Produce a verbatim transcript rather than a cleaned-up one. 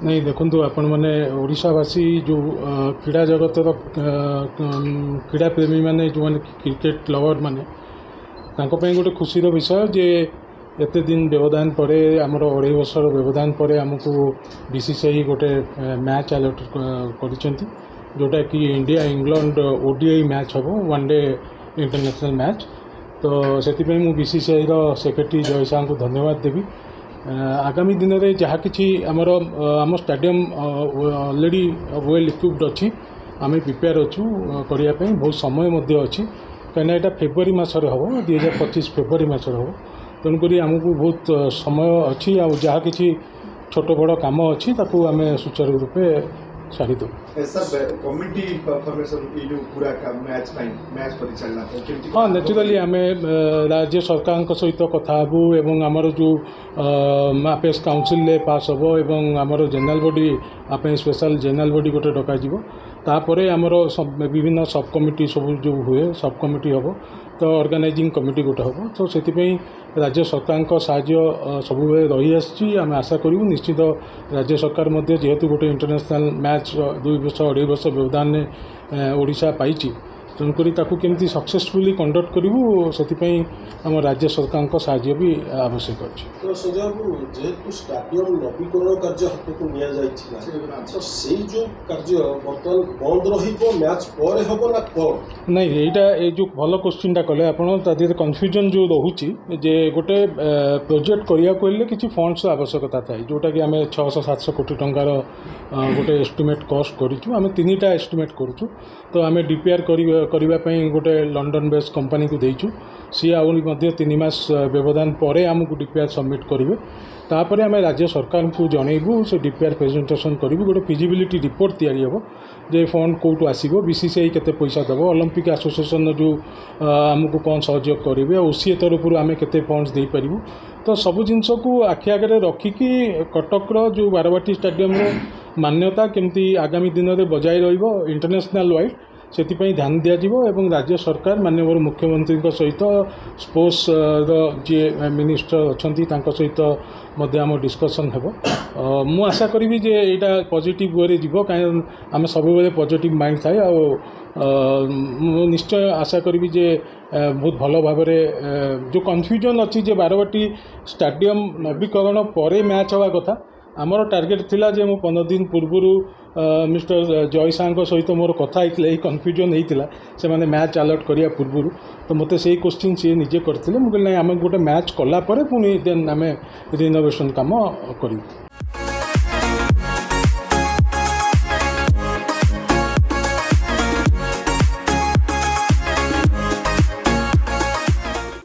ନାଇଁ ଦେଖନ୍ତୁ ଆପଣମାନେ ଓଡ଼ିଶାବାସୀ ଯେଉଁ କ୍ରୀଡ଼ା ଜଗତର କ୍ରୀଡ଼ା ପ୍ରେମୀମାନେ ଯେଉଁମାନେ କ୍ରିକେଟ ଲଭର୍ ମାନେ ତାଙ୍କ ପାଇଁ ଗୋଟେ ଖୁସିର ବିଷୟ ଯେ ଏତେ ଦିନ ବ୍ୟବଧାନ ପରେ ଆମର ଅଢ଼େଇ ବର୍ଷର ବ୍ୟବଧାନ ପରେ ଆମକୁ ବି ସି ସି I ଗୋଟେ ମ୍ୟାଚ୍ ଆଲଟ୍ କରିଛନ୍ତି ଯେଉଁଟାକି India England O D I match ହେବ ୱାନ୍ ଡେ ଇଣ୍ଟରନ୍ୟାସନାଲ୍ ମ୍ୟାଚ୍ ତ ସେଥିପାଇଁ ମୁଁ ବି ସି ସି ଆଇର ସେକ୍ରେଟାରୀ ଜୟ ଶାହାଙ୍କୁ ଧନ୍ୟବାଦ ଦେବି ଆଗାମୀ ଦିନରେ ଯାହା କିଛି ଆମର ଆମ ଷ୍ଟାଡ଼ିୟମ୍ ଅଲରେଡ଼ି ୱେଲ୍ ଇକ୍ୱିପ୍ଡ ଅଛି ଆମେ ପ୍ରିପେୟାର ଅଛୁ କରିବା ପାଇଁ ବହୁତ ସମୟ ମଧ୍ୟ ଅଛି କାହିଁକିନା ଏଇଟା ଫେବୃଆରୀ ମାସରେ ହେବ ଦୁଇ ହଜାର ପଚିଶ ଫେବୃଆରୀ ମାସରେ ହେବ ତେଣୁକରି ଆମକୁ ବହୁତ ସମୟ ଅଛି ଆଉ ଯାହା କିଛି ଛୋଟ ବଡ଼ କାମ ଅଛି ତାକୁ ଆମେ ସୁଚାରୁ ରୂପେ ସାରିଦେବୁ ସାର୍ କମିଟି ଫର୍ମେସନ୍ ଏଇ ଯେଉଁ ପୁରା ମ୍ୟାଚ୍ ପାଇଁ ମ୍ୟାଚ୍ ପରିଚାଳନା ପାଇଁ କେମିତି ହଁ ନ୍ୟାଚୁରାଲି ଆମେ ରାଜ୍ୟ ସରକାରଙ୍କ ସହିତ କଥା ହେବୁ ଏବଂ ଆମର ଯେଉଁ ଆପେକ୍ସ କାଉନସିଲରେ ପାସ୍ ହେବ ଏବଂ ଆମର ଜେନେରାଲ ବଡି ପାଇଁ ସ୍ପେଶାଲ ଜେନେରାଲ ବଡି ଗୋଟେ ଡକାଯିବ ତାପରେ ଆମର ବିଭିନ୍ନ ସବ୍ କମିଟି ସବୁ ଯେଉଁ ହୁଏ ସବ୍ କମିଟି ହେବ ତ ଅର୍ଗାନାଇଜିଂ କମିଟି ଗୋଟେ ହେବ ତ ସେଥିପାଇଁ ରାଜ୍ୟ ସରକାରଙ୍କ ସାହାଯ୍ୟ ସବୁବେଳେ ରହିଆସିଛି ଆମେ ଆଶା କରିବୁ ନିଶ୍ଚିତ ରାଜ୍ୟ ସରକାର ମଧ୍ୟ ଯେହେତୁ ଗୋଟେ ଇଣ୍ଟରନ୍ୟାସନାଲ୍ ମ୍ୟାଚ୍ ଦୁଇ ବର୍ଷ ଅଢ଼େଇ ବର୍ଷ ବ୍ୟବଧାନରେ ଓଡ଼ିଶା ପାଇଛି ତେଣୁକରି ତାକୁ କେମିତି ସକ୍ସେସଫୁଲି କଣ୍ଡକ୍ଟ କରିବୁ ସେଥିପାଇଁ ଆମ ରାଜ୍ୟ ସରକାରଙ୍କ ସାହାଯ୍ୟ ବି ଆବଶ୍ୟକ ଅଛି ତ ସଞ୍ଜୟ ବାବୁ ଯେହେତୁ ଷ୍ଟାଡିୟମ ନବୀକରଣ କାର୍ଯ୍ୟ ହାତକୁ ନିଆଯାଇଥିଲା ତ ସେଇ ଯେଉଁ କାର୍ଯ୍ୟ ବର୍ତ୍ତମାନ ବନ୍ଦ ରହିବ ମ୍ୟାଚ୍ ପରେ ହେବ ନା କ'ଣ ନାଇଁ ଏଇଟା ଏଇ ଯେଉଁ ଭଲ କୋଶ୍ଚିନ୍ଟା କଲେ ଆପଣ ତା ଦେହରେ କନଫ୍ୟୁଜନ୍ ଯେଉଁ ରହୁଛି ଯେ ଗୋଟେ ପ୍ରୋଜେକ୍ଟ କରିବାକୁ ହେଲେ କିଛି ଫଣ୍ଡସର ଆବଶ୍ୟକତା ଥାଏ ଯେଉଁଟାକି ଆମେ ଛଅଶହ ସାତଶହ କୋଟି ଟଙ୍କାର ଗୋଟେ ଏଷ୍ଟିମେଟ୍ କଷ୍ଟ କରିଛୁ ଆମେ ତିନିଟା ଏଷ୍ଟିମେଟ୍ କରୁଛୁ ତ ଆମେ ଡି ପି ଆର୍ କରିବା ପାଇଁ ଗୋଟେ ଲଣ୍ଡନ ବେସ୍ କମ୍ପାନୀକୁ ଦେଇଛୁ ସିଏ ଆହୁରି ମଧ୍ୟ ତିନି ମାସ ବ୍ୟବଧାନ ପରେ ଆମକୁ ଡି ପି ଆର୍ ସବମିଟ୍ କରିବେ ତାପରେ ଆମେ ରାଜ୍ୟ ସରକାରଙ୍କୁ ଜଣେଇବୁ ସେ ଡି ପି ଆର୍ ପ୍ରେଜେଣ୍ଟେସନ୍ କରିବୁ ଗୋଟେ ଫିଜିବିଲିଟି ରିପୋର୍ଟ ତିଆରି ହେବ ଯେ ଫଣ୍ଡ କେଉଁଠୁ ଆସିବ ବି ସି ସି I କେତେ ପଇସା ଦେବ ଅଲମ୍ପିକ୍ ଆସୋସିଏସନ୍ର ଯେଉଁ ଆମକୁ କ'ଣ ସହଯୋଗ କରିବେ ଓ ସି ଏ ତରଫରୁ ଆମେ କେତେ ଫଣ୍ଡସ୍ ଦେଇପାରିବୁ ତ ସବୁ ଜିନିଷକୁ ଆଖି ଆଗରେ ରଖିକି କଟକର ଯେଉଁ ବାରବାଟୀ ଷ୍ଟାଡ଼ିୟମର ମାନ୍ୟତା କେମିତି ଆଗାମୀ ଦିନରେ ବଜାୟ ରହିବ ଇଣ୍ଟରନ୍ୟାସନାଲ୍ ୱାଇଜ୍ ସେଥିପାଇଁ ଧ୍ୟାନ ଦିଆଯିବ ଏବଂ ରାଜ୍ୟ ସରକାର ମାନ୍ୟବର ମୁଖ୍ୟମନ୍ତ୍ରୀଙ୍କ ସହିତ ସ୍ପୋର୍ଟସର ଯିଏ ମିନିଷ୍ଟର ଅଛନ୍ତି ତାଙ୍କ ସହିତ ମଧ୍ୟ ଆମ ଡିସ୍କସନ୍ ହେବ ମୁଁ ଆଶା କରିବି ଯେ ଏଇଟା ପଜିଟିଭ୍ ୱେରେ ଯିବ କାହିଁକି ଆମେ ସବୁବେଳେ ପଜିଟିଭ୍ ମାଇଣ୍ଡ ଥାଏ ଆଉ ମୁଁ ନିଶ୍ଚୟ ଆଶା କରିବି ଯେ ବହୁତ ଭଲ ଭାବରେ ଯେଉଁ କନଫ୍ୟୁଜନ୍ ଅଛି ଯେ ବାରବାଟୀ ଷ୍ଟାଡ଼ିୟମ୍ ନବୀକରଣ ପରେ ମ୍ୟାଚ୍ ହେବା କଥା ଆମର ଟାର୍ଗେଟ୍ ଥିଲା ଯେ ମୁଁ ପନ୍ଦର ଦିନ ପୂର୍ବରୁ ମିଷ୍ଟର ଜୟ ଶାହାଙ୍କ ସହିତ ମୋର କଥା ହେଇଥିଲା ଏଇ କନଫ୍ୟୁଜନ୍ ହେଇଥିଲା ସେମାନେ ମ୍ୟାଚ୍ ଆଲଟ୍ କରିବା ପୂର୍ବରୁ ତ ମୋତେ ସେଇ କୋଶ୍ଚିନ୍ ସିଏ ନିଜେ କରିଥିଲେ ମୁଁ କହିଲି ନାଇଁ ଆମେ ଗୋଟେ ମ୍ୟାଚ୍ କଲା ପରେ ପୁଣି ଦେନ୍ ଆମେ ରିନୋଭେସନ୍ କାମ କରିବୁ